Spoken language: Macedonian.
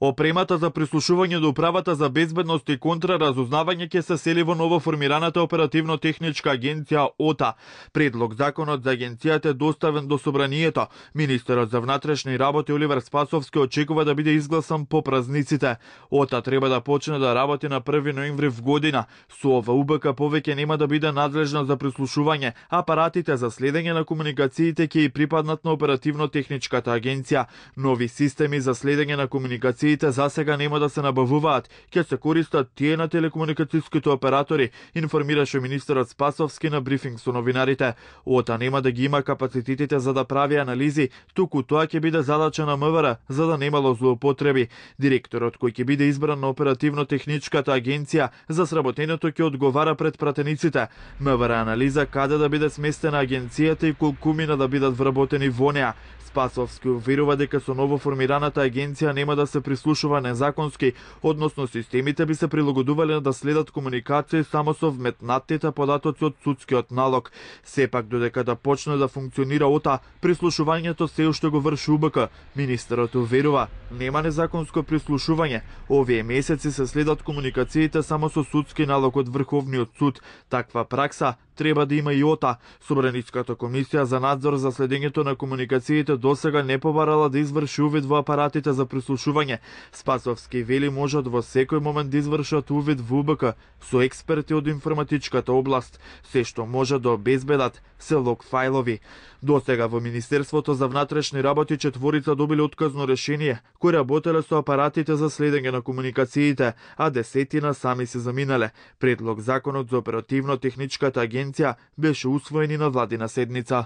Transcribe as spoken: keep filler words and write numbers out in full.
Опремата за прислушување до управата за безбедност и контраразузнавање ќе се сели во новоформираната оперативно-техничка агенција ОТА. Предлог законот за агенцијата е доставен до собранието. Министерот за внатрешни работи Оливер Спасовски очекува да биде изгласан по празниците. ОТА треба да почне да работи на први ноември в година. Со ова УБК повеќе нема да биде надлежна за прислушување. Апаратите за следење на комуникациите ќе и припаднат на оперативно-техничката агенција. Нови системи за следење на комуникациите за сега нема да се набавуваат, ќе се користат тие на телекомуникацијските оператори, информираше министерот Спасовски на брифинг со новинарите. ОТА нема да ги има капацитетите за да прави анализи, туку тоа ќе биде задача на МВР, за да немало злоупотреби. Директорот кој ќе биде избран на оперативно-техничката агенција за сработењето ќе одговара пред пратениците. МВР анализа каде да биде сместена агенцијата и колку мина да бидат вработени во неа. Спасовски уверува дека со новоформираната агенција нема да се прислушува незаконски, односно системите би се прилагодувале да следат комуникација само со вметнатите податоци од судскиот налог. Сепак додека да почне да функционира ОТА, прислушувањето се уште го врши УБК. Министерот уверува, нема незаконско прислушување. Овие месеци се следат комуникациите само со судски налог од Врховниот суд. Таква пракса треба да има и ОТА. Собраницката комисија за надзор за следењето на комуникациите досега не побарала да изврши увид во апаратите за прислушување. Спасовски вели можат во секој момент да извршат увид во УБК со експерти од информатичката област. Се што може да обезбедат се лог фајлови. Досега во Министерството за внатрешни работи четворица добиле отказно решение, кои работеле со апаратите за следење на комуникациите, а десетина сами се заминале. Предлог законот за оперативно-техничката агенција беше усвоен и на владина седница.